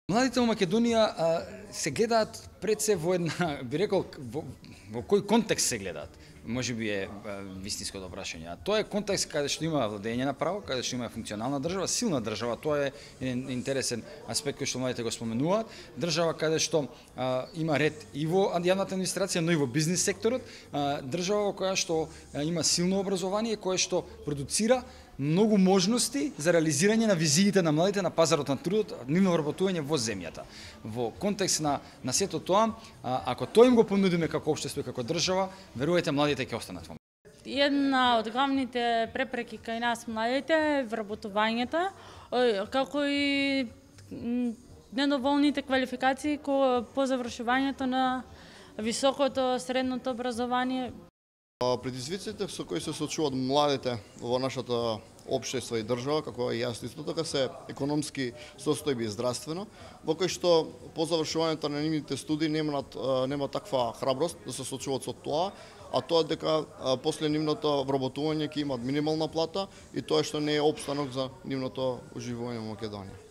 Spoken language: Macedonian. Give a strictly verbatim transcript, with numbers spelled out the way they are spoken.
Младите во Македонија а, се гледаат пред се во една, би рекол, во, во кој контекст се гледаат. Може би е вистинското прашање. А тоа е контекст каде што има владење на право, каде што има функционална држава, силна држава. Тоа е еден интересен аспект кој што младите го споменуваат. Држава каде што а, има ред и во јавната администрација, но и во бизнис секторот. А, држава во која што а, има силно образование, која што продуцира многу можности за реализирање на визиите на младите на пазарот на трудот, нивно вработување во земјата. Во контекст на на сето тоа, а, ако тоа им го понудиме како општество и како држава, верувајте, младите ќе останат во. Една од главните препреки кај нас младите е вработувањето, како и недоволните квалификации по завршувањето на високото средното образование. Предизвиците со кои се соочуваат младите во нашата општество и држава, како и јас исто така, се економски состојби и здравствено, во кој што по завршувањето на нивните студии немаат нема таква храброст да се соочуваат со тоа, а тоа дека после нивното вработување ќе имаат минимална плата и тоа што не е опстанок за нивното уживување во Македонија.